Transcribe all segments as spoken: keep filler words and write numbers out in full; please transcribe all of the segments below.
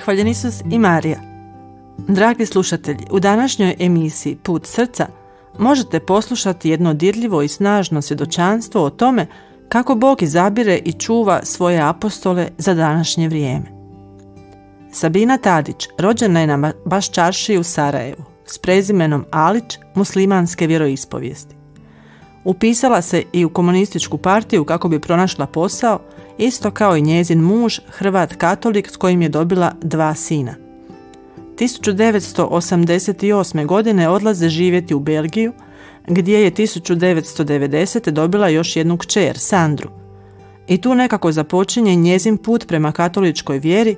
Hvaljen Isus i Marija. Dragi slušatelji, u današnjoj emisiji Put srca možete poslušati jedno dirljivo i snažno svjedočanstvo o tome kako Bog izabire i čuva svoje apostole za današnje vrijeme. Sabina Tadić rođena je na Baščaršiji u Sarajevu s prezimenom Alić muslimanske vjeroispovijesti. Upisala se i u komunističku partiju kako bi pronašla posao, isto kao i njezin muž, Hrvat katolik s kojim je dobila dva sina. tisuću devetsto osamdeset osme. godine odlaze živjeti u Belgiju, gdje je tisuću devetsto devedesete. dobila još jednu kćer, Sandru. I tu nekako započinje njezin put prema katoličkoj vjeri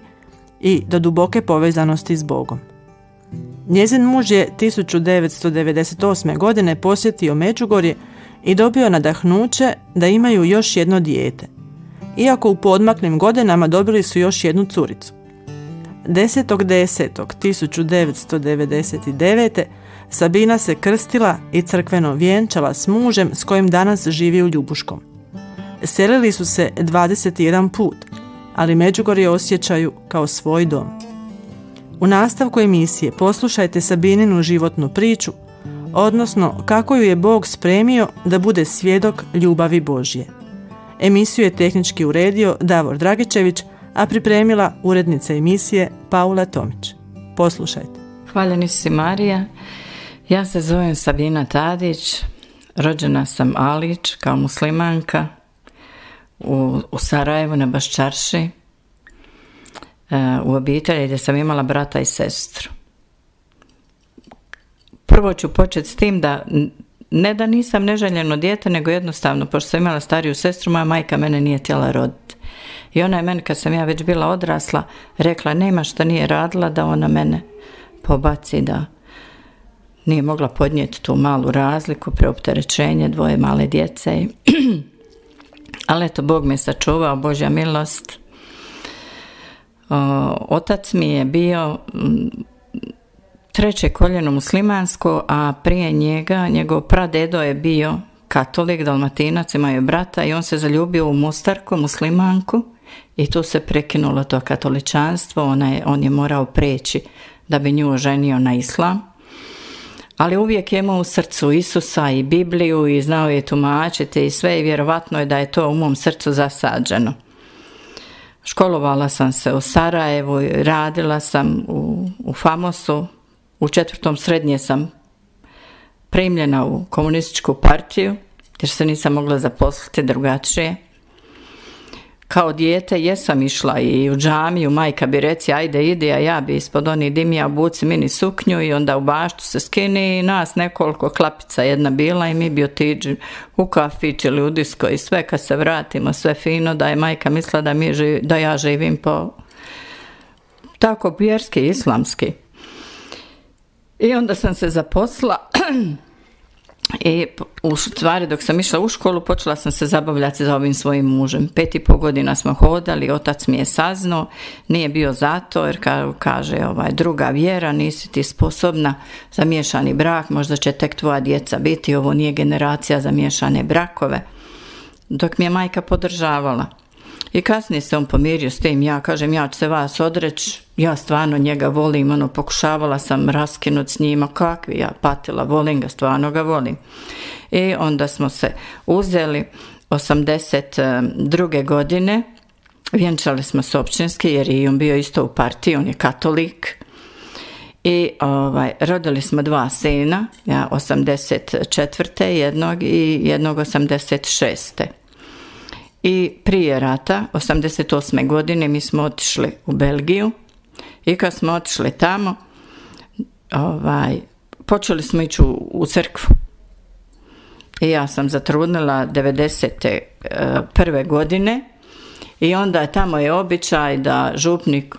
i do duboke povezanosti s Bogom. Njezin muž je tisuću devetsto devedeset osme. godine posjetio Međugorje i dobio nadahnuće da imaju još jedno dijete. Iako u poodmaklim godinama dobili su još jednu curicu. desetog desetog tisuću devetsto devedeset devete. Sabina se krstila i crkveno vjenčala s mužem s kojim danas živi u Ljubuškom. Selili su se dvadeset jedan put, ali Međugorje osjećaju kao svoj dom. U nastavku emisije poslušajte Sabininu životnu priču, odnosno kako ju je Bog spremio da bude svjedok ljubavi Božje. Emisiju je tehnički uredio Davor Dragičević, a pripremila urednica emisije Paula Tomić. Poslušajte. Hvaljeni si Marija, ja se zovem Sabina Tadić, rođena sam Alić kao muslimanka u, u Sarajevu na Baščarši, u obitelji gdje sam imala brata i sestru. Prvo ću početi s tim da ne da nisam neželjeno dijete, nego jednostavno, pošto sam imala stariju sestru, moja majka mene nije htjela roditi. I ona je meni, kad sam ja već bila odrasla, rekla nema šta nije radila da ona mene pobaci, da nije mogla podnijeti tu malu razliku, preopterećenje, dvoje male djece. Ali eto, Bog me sačuvao, Božja milost. O, otac mi je bio treće koljeno muslimansko, a prije njega, njegov pradedo je bio katolik, Dalmatinac, imao je brata i on se zaljubio u Mostarku, muslimanku, i tu se prekinulo to katoličanstvo, ona je, on je morao preći da bi nju oženio na islam. Ali uvijek je imao u srcu Isusa i Bibliju i znao je tumačiti i sve, i vjerovatno je da je to u mom srcu zasađeno. Školovala sam se u Sarajevu, radila sam u, u Famosu, u četvrtom srednje sam primljena u komunističku partiju, jer se nisam mogla zaposliti drugačije. Kao dijete jesam išla i u džamiju, majka bi reci ajde idi, a ja bi ispod onih dimija obuci mini suknju i onda u baštu se skini i nas nekoliko klapica jedna bila i mi bi otiđi u kafić ili u disko i sve, kad se vratimo sve fino, da je majka mislila da, mi živ, da ja živim po tako vjerski, islamski. I onda sam se zaposlila i u stvari dok sam išla u školu počela sam se zabavljati za ovim svojim mužem. Pet i pol godina smo hodali, otac mi je saznao, nije bio zato jer kaže ovaj, druga vjera, nisi ti sposobna za miješani brak, možda će tek tvoja djeca biti, ovo nije generacija za miješane brakove. Dok mi je majka podržavala. I kasnije se on pomirio s tim, ja kažem ja ću se vas odreći, ja stvarno njega volim, ono pokušavala sam raskinuti s njima, kakvi ja patila, volim ga, stvarno ga volim. I onda smo se uzeli osamdeset druge. godine, vjenčali smo se općinski jer i on bio isto u partiji, on je katolik. I ovaj, rodili smo dva sina, ja osamdeset četvrte jednog i jednog osamdeset šeste. I prije rata, osamdeset osme. godine, mi smo otišli u Belgiju i kad smo otišli tamo, ovaj, počeli smo ići u, u crkvu. I ja sam zatrudnila devedeset prve. godine i onda je tamo je običaj da župnik,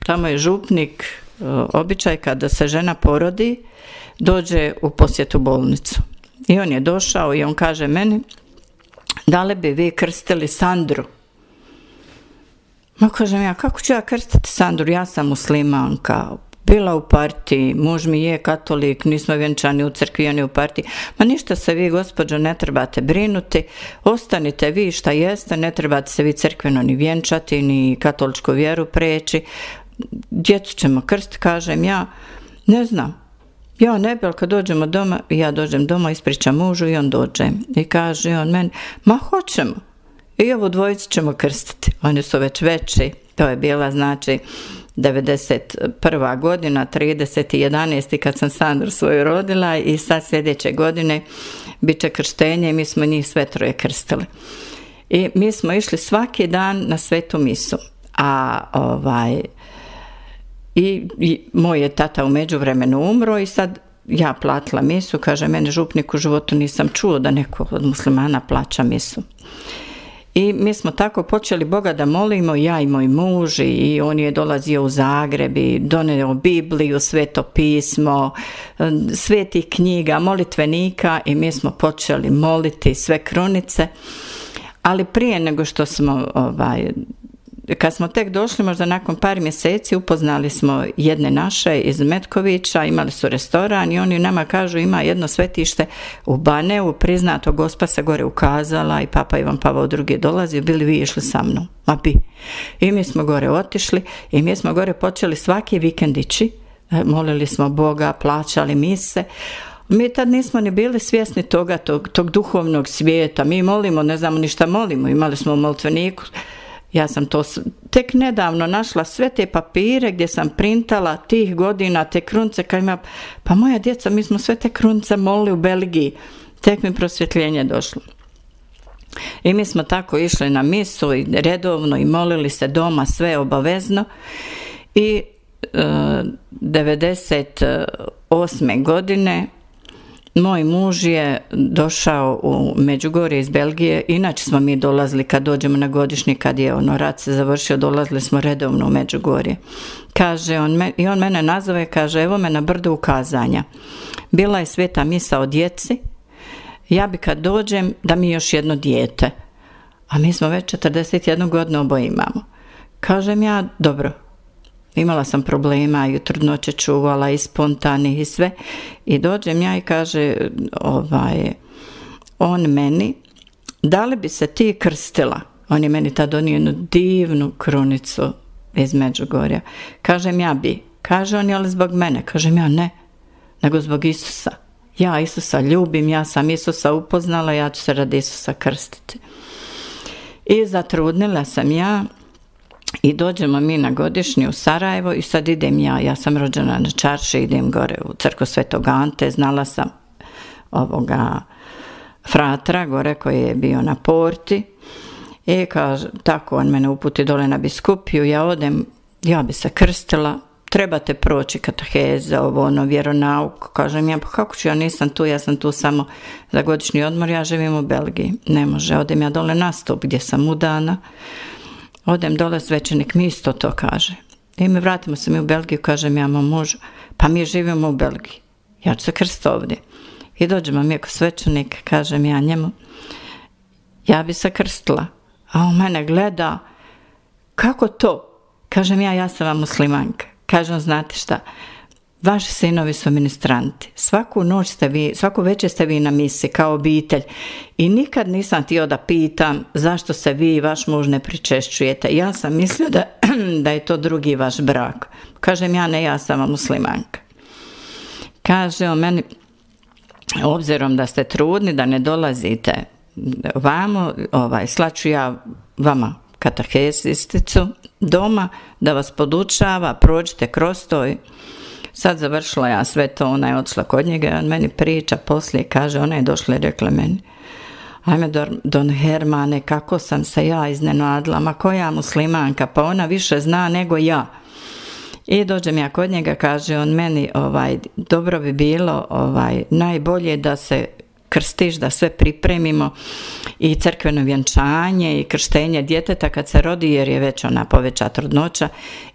tamo je župnik običaj kada se žena porodi, dođe u posjetu bolnicu. I on je došao i on kaže meni, da li bi vi krstili Sandru? Ma kažem ja, kako ću ja krstiti Sandru? Ja sam muslimanka, bila u partiji, muž mi je katolik, nismo vjenčani u crkvi, oni u partiji. Ma ništa se vi, gospođo, ne trebate brinuti, ostanite vi šta jeste, ne trebate se vi crkveno ni vjenčati, ni katoličku vjeru preći. Djecu ćemo krstiti, kažem ja, ne znam. Ja ne bi, ali kad dođemo doma, ja dođem doma, ispričam mužu i on dođe. I kaže on meni, ma hoćemo. I ovu dvojicu ćemo krstiti. Oni su već veći, to je bila znači devedeset prva godina, trideset jedanaesti kad sam Sandru svoju rodila i sad sljedeće godine bit će krštenje i mi smo njih sve troje krstili. I mi smo išli svaki dan na svetu misu. A ovaj... I, i moj je tata u međuvremenu umro i sad ja platila misu, kaže mene župnik u životu nisam čuo da neko od muslimana plaća misu. I mi smo tako počeli Boga da molimo, ja i moj muž, i on je dolazio u Zagreb i doneo Bibliju, Sveto pismo, svetih knjiga, molitvenika i mi smo počeli moliti sve krunice, ali prije nego što smo ovaj, kad smo tek došli, možda nakon par mjeseci, upoznali smo jedne naše iz Metkovića, imali su restoran i oni nama kažu ima jedno svetište u Baneu, priznato, Gospa se gore ukazala i Papa Ivan Pavao drugi dolazi, bili vi išli sa mnom? Ma bi. I mi smo gore otišli i mi smo gore počeli svaki vikend ići, molili smo Boga, plaćali mise. Mi tad nismo ni bili svjesni toga, tog, tog duhovnog svijeta, mi molimo, ne znamo ni šta molimo, imali smo u molitveniku. Ja sam to tek nedavno našla sve te papire gdje sam printala tih godina, te krunce, kad ima, pa moja djeca, mi smo sve te krunce molili u Belgiji, tek mi prosvjetljenje došlo. I mi smo tako išli na misu i redovno i molili se doma sve obavezno i e, devedeset osme godine moj muž je došao u Međugorje iz Belgije, inače smo mi dolazili kad dođemo na godišnji, kad je ono rat se završio, dolazili smo redovno u Međugorje. Kaže, on me, i on mene nazove, kaže, evo me na brdu ukazanja. Bila je sveta misa o djeci, ja bi kad dođem da mi još jedno dijete, a mi smo već četrdeset jednu godinu oboje imamo. Kažem ja, dobro. Imala sam problema i trudnoće čuvala i spontanih i sve. I dođem ja i kaže ovaj, on meni, da li bi se ti krstila? On je meni tad donio jednu divnu krunicu iz Međugorja. Kažem ja bi. Kaže on, je li zbog mene? Kažem ja ne, nego zbog Isusa. Ja Isusa ljubim, ja sam Isusa upoznala, ja ću se radi Isusa krstiti. I zatrudnila sam ja. I dođemo mi na godišnji u Sarajevo i sad idem ja, ja sam rođena na Čarši, idem gore u crkvu Svetog Ante, znala sam ovoga fratra gore koji je bio na porti i kaže, tako on mene uputi dole na biskupiju, ja odem, ja bi se krstila, trebate proći kateheze, ovo ono, vjeronauk, kažem ja, pa kako ću, ja nisam tu, ja sam tu samo za godišnji odmor, ja živim u Belgiji, ne može, odem ja dole na stup gdje sam udana. Odem dole, svećenik mi isto to kaže. I mi vratimo se mi u Belgiju, kažem ja mom mužu, pa mi živimo u Belgiji. Ja ću se krstiti ovdje. I dođemo mi ako svećenik, kažem ja njemu, ja bi se krstila. A on mene gleda, kako to? Kažem ja, ja sam vam muslimanka. Kažem, znate šta, vaši sinovi su ministranti. Svaku noć ste vi, svaku večer ste vi na misi kao obitelj. I nikad nisam htio da pitam zašto se vi i vaš muž ne pričešćujete. Ja sam mislio da, da je to drugi vaš brak. Kažem ja ne, ja sam muslimanka. Kaže on meni, obzirom da ste trudni, da ne dolazite vamo, ovaj, slaću ja vama katehezisticu doma da vas podučava, prođite kroz to. Sad završila ja sve to, ona je odšla kod njega i on meni priča poslije, kaže, ona je došla i rekla meni, ajme don Hermane, kako sam se ja iznenadila, ma koja muslimanka, pa ona više zna nego ja. I dođem ja kod njega, kaže on meni, ovaj, dobro bi bilo, ovaj, najbolje da se krstiš, da sve pripremimo i crkveno vjenčanje i krštenje djeteta kad se rodi, jer je već ona poveća trudnoća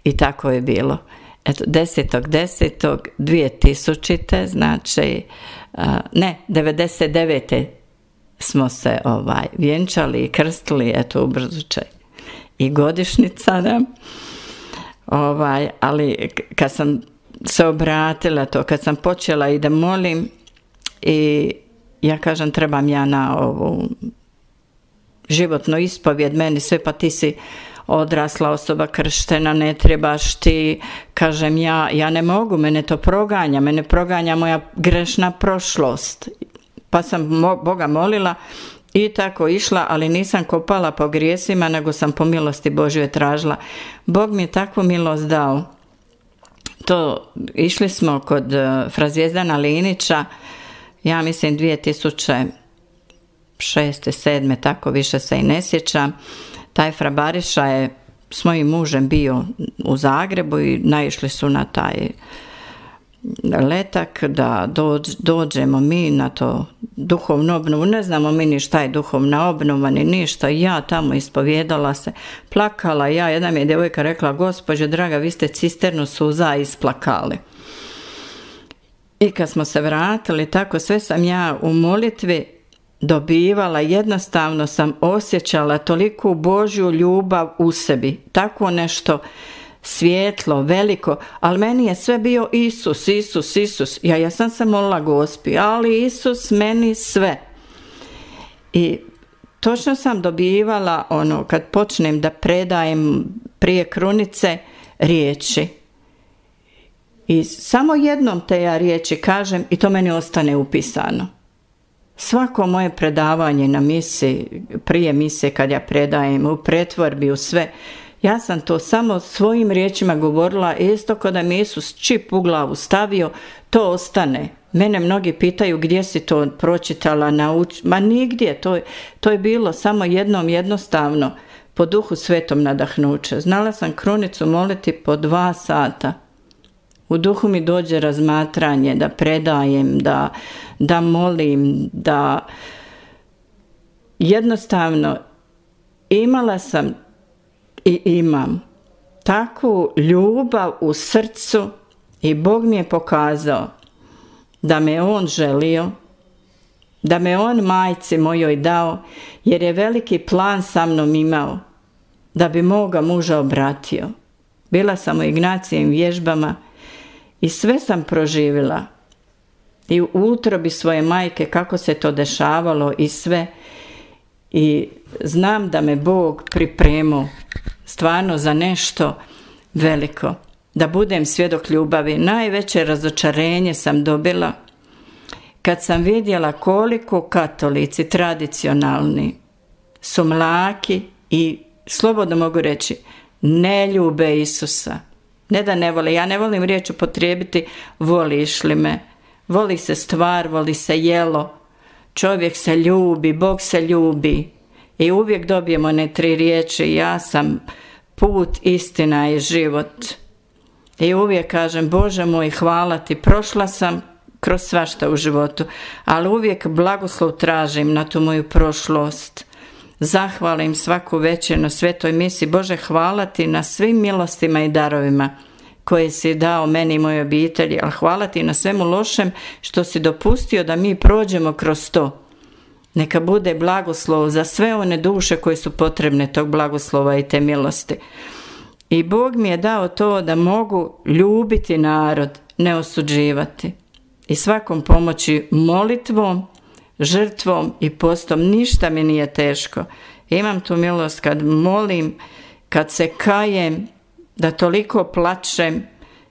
i tako je bilo. Eto, desetog desetog dvije tisućite, znači, uh, ne, devedeset devete smo se ovaj, vjenčali i krstili, eto, ubrzučaj. I godišnjica, da. Ovaj, ali kad sam se obratila to, kad sam počela i da molim i ja kažem trebam ja na ovu životnu ispovjed, meni sve, pa ti si odrasla osoba, krštena, ne trebaš ti, kažem ja, ja ne mogu, mene to proganja, mene proganja moja grešna prošlost. Pa sam mo- Boga molila i tako išla, ali nisam kopala po grijesima, nego sam po milosti Božje tražila. Bog mi je takvu milost dao. To, išli smo kod uh, fra Zvijezdana Linića, ja mislim dvije tisuće šeste, sedme, tako više se i ne sjećam. Taj fra Bariša je s mojim mužem bio u Zagrebu i naišli su na taj letak da dođ, dođemo mi na to duhovnu obnovu. Ne znamo mi ni šta je duhovna obnova, ni ništa. Ja tamo ispovjedala se, plakala ja. Jedna mi je djevojka rekla, gospođo draga, vi ste cisternu suza isplakali. I kad smo se vratili, tako sve sam ja u molitvi dobivala, jednostavno sam osjećala toliku Božju ljubav u sebi, tako nešto svjetlo, veliko, ali meni je sve bio Isus, Isus, Isus. Ja, ja sam se molila Gospi, ali Isus meni sve. I točno sam dobivala ono, kad počnem da predajem prije krunice riječi. I samo jednom te ja riječi kažem i to meni ostane upisano. Svako moje predavanje na misi, prije mise kad ja predajem, u pretvorbi, u sve, ja sam to samo svojim riječima govorila, isto kada mi Isus čip u glavu stavio, to ostane. Mene mnogi pitaju gdje si to pročitala, nauč... ma nigdje, to, to je bilo samo jednom jednostavno, po Duhu Svetom nadahnuće. Znala sam krunicu moliti po dva sata. U duhu mi dođe razmatranje, da predajem, da, da molim, da jednostavno imala sam i imam takvu ljubav u srcu i Bog mi je pokazao da me On želio, da me On majci mojoj dao, jer je veliki plan sa mnom imao, da bi moga muža obratio. Bila sam u Ignacijevim vježbama i sve sam proživjela. I u utrobi svoje majke kako se to dešavalo i sve. I znam da me Bog pripremio stvarno za nešto veliko. Da budem svjedok ljubavi. Najveće razočarenje sam dobila kad sam vidjela koliko katolici tradicionalni su mlaki i slobodno mogu reći ne ljube Isusa. Ne da ne vole, ja ne volim riječ upotrijebiti voliš li me. Voli se stvar, voli se jelo. Čovjek se ljubi, Bog se ljubi. I uvijek dobijemo one tri riječi, ja sam put, istina i život. I uvijek kažem, Bože moj, hvala ti, prošla sam kroz svašta u životu, ali uvijek blagoslov tražim na tu moju prošlost. Zahvalim svaku večer na svetoj misi. Bože, hvala ti na svim milostima i darovima koje si dao meni i mojoj obitelji, ali hvala ti na svemu lošem što si dopustio da mi prođemo kroz to. Neka bude blagoslov za sve one duše koje su potrebne tog blagoslova i te milosti. I Bog mi je dao to da mogu ljubiti narod, ne osuđivati. I svakom pomoći molitvom, žrtvom i postom. Ništa mi nije teško. Imam tu milost kad molim, kad se kajem, da toliko plačem,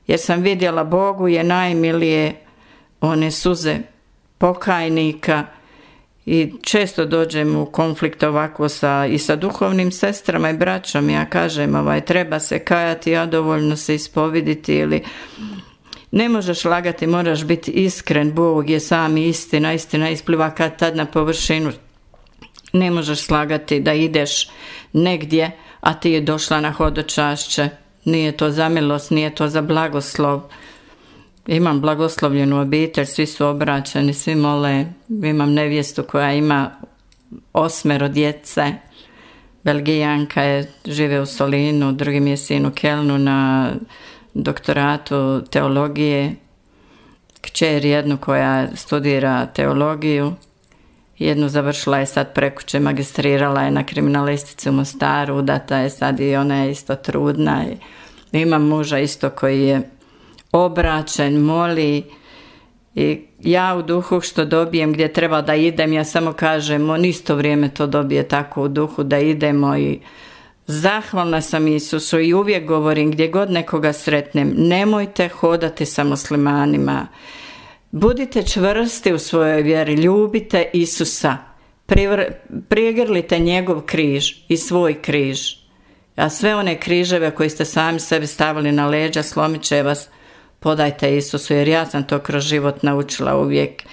jer sam vidjela Bogu je najmilije one suze pokajnika i često dođem u konflikt ovako sa, i sa duhovnim sestrama i braćom. Ja kažem, ovaj, treba se kajati, a dovoljno se ispoviditi ili ne možeš lagati, moraš biti iskren. Bog je sam istina, istina ispliva kad tad na površinu. Ne možeš slagati da ideš negdje, a ti je došla na hodočašće. Nije to za milost, nije to za blagoslov. Imam blagoslovljenu obitelj, svi su obraćeni, svi mole. Imam nevjestu koja ima osmero djece. Belgijanka je, žive u Solinu, drugi mi je sin u Kelnu na doktoratu teologije. Kćer jednu koja studira teologiju. Jednu završila je sad prekuće, magistrirala je na kriminalistici u Mostaru, udata je sad i ona je isto trudna. I imam muža isto koji je obraćen, moli. I ja u duhu što dobijem gdje treba da idem, ja samo kažem, on isto vrijeme to dobije tako u duhu da idemo i zahvalna sam Isusu i uvijek govorim gdje god nekoga sretnem, nemojte hodati sa muslimanima. Budite čvrsti u svojoj vjeri, ljubite Isusa, prigrlite njegov križ i svoj križ. A sve one križeve koje ste sami sebi stavili na leđa, slomit će vas, podajte Isusu, jer ja sam to kroz život naučila uvijek.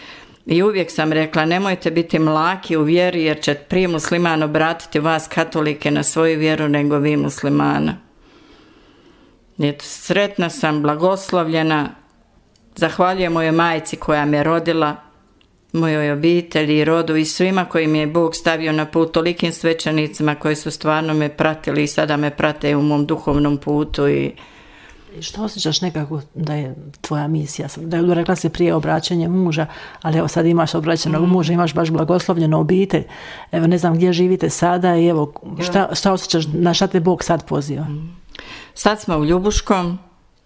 I uvijek sam rekla, nemojte biti mlaki u vjeri, jer će prije musliman obratiti vas katolike na svoju vjeru nego vi muslimana. Eto, sretna sam, blagoslovljena, zahvaljujem mojoj majci koja me rodila, mojoj obitelji i rodu i svima koji mi je Bog stavio na put, tolikim svećenicima koji su stvarno me pratili i sada me prate u mom duhovnom putu. I što osjećaš nekako da je tvoja misija? Da je rekla si prije obraćanje muža, ali evo sad imaš obraćenog mm. muža, imaš baš blagoslovljenu obitelj. Evo ne znam gdje živite sada i evo šta, šta osjećaš, na šta te Bog sad poziva? Mm. Sad smo u Ljubuškom,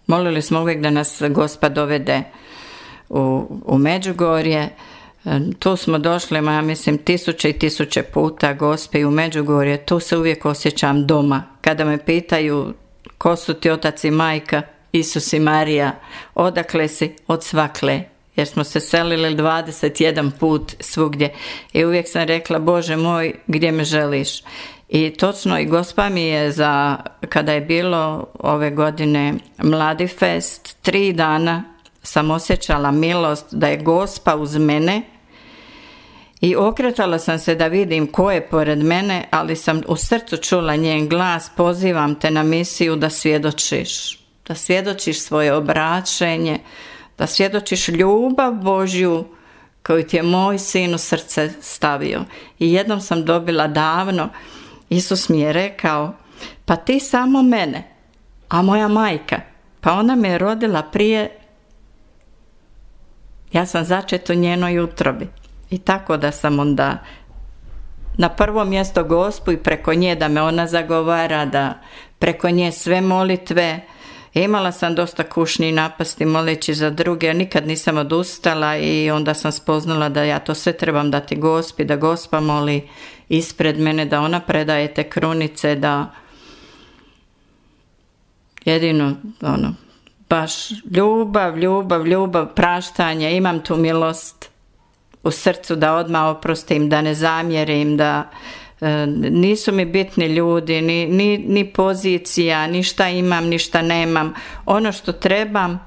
molili smo uvijek da nas Gospod dovede u, u Međugorje. Tu smo došli, ja mislim, tisuće i tisuće puta Gospe i u Međugorje. Tu se uvijek osjećam doma. Kada me pitaju ko su ti otac i majka, Isus i Marija, odakle si? Od svakle. Jer smo se selili dvadeset jedan put svugdje. I uvijek sam rekla, Bože moj, gdje me želiš? I točno, i Gospa mi je za, kada je bilo ove godine Mladi fest, tri dana sam osjećala milost da je Gospa uz mene i okretala sam se da vidim ko je pored mene, ali sam u srcu čula njen glas, pozivam te na misiju da svjedočiš, da svjedočiš svoje obraćenje, da svjedočiš ljubav Božju koju ti je moj sin u srce stavio. I jednom sam dobila davno, Isus mi je rekao, pa ti samo mene, a moja majka, pa ona me je rodila prije, ja sam začet u njenoj utrobi. I tako da sam onda na prvo mjesto Gospu i preko nje da me ona zagovara, da preko nje sve molitve. Imala sam dosta kušnji napasti moleći za druge, nikad nisam odustala i onda sam spoznala da ja to sve trebam dati Gospi, da Gospa moli ispred mene, da ona predaje te krunice, da jedino ono, baš ljubav, ljubav, ljubav, praštanje, imam tu milost u srcu da odmah oprostim, da ne zamjerim, da e, nisu mi bitni ljudi, ni, ni, ni pozicija, ni šta imam, ni šta nemam. Ono što trebam,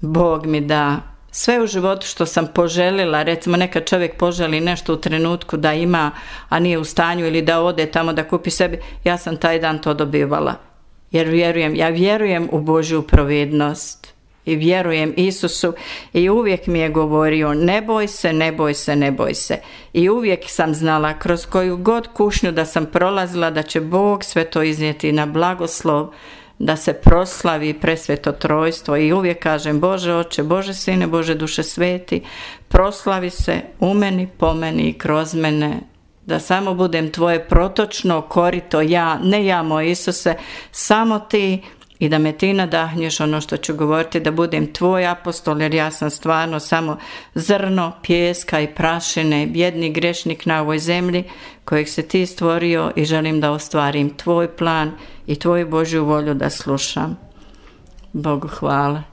Bog mi da. Sve u životu što sam poželila, recimo neka čovjek poželi nešto u trenutku da ima, a nije u stanju ili da ode tamo da kupi sebi, ja sam taj dan to dobivala. Jer vjerujem, ja vjerujem u Božju providnost i vjerujem Isusu i uvijek mi je govorio ne boj se, ne boj se, ne boj se. I uvijek sam znala kroz koju god kušnju da sam prolazila da će Bog sve to iznijeti na blagoslov, da se proslavi presveto trojstvo i uvijek kažem Bože Oče, Bože Sine, Bože Duše Sveti, proslavi se u meni, po meni i kroz mene, da samo budem tvoje protočno korito, ja, ne ja moj Isuse, samo ti i da me ti nadahnješ ono što ću govoriti, da budem tvoj apostol, jer ja sam stvarno samo zrno, pijeska i prašine, bjedni grešnik na ovoj zemlji kojeg se ti stvorio i želim da ostvarim tvoj plan i tvoju Božju volju da slušam. Bogu hvala.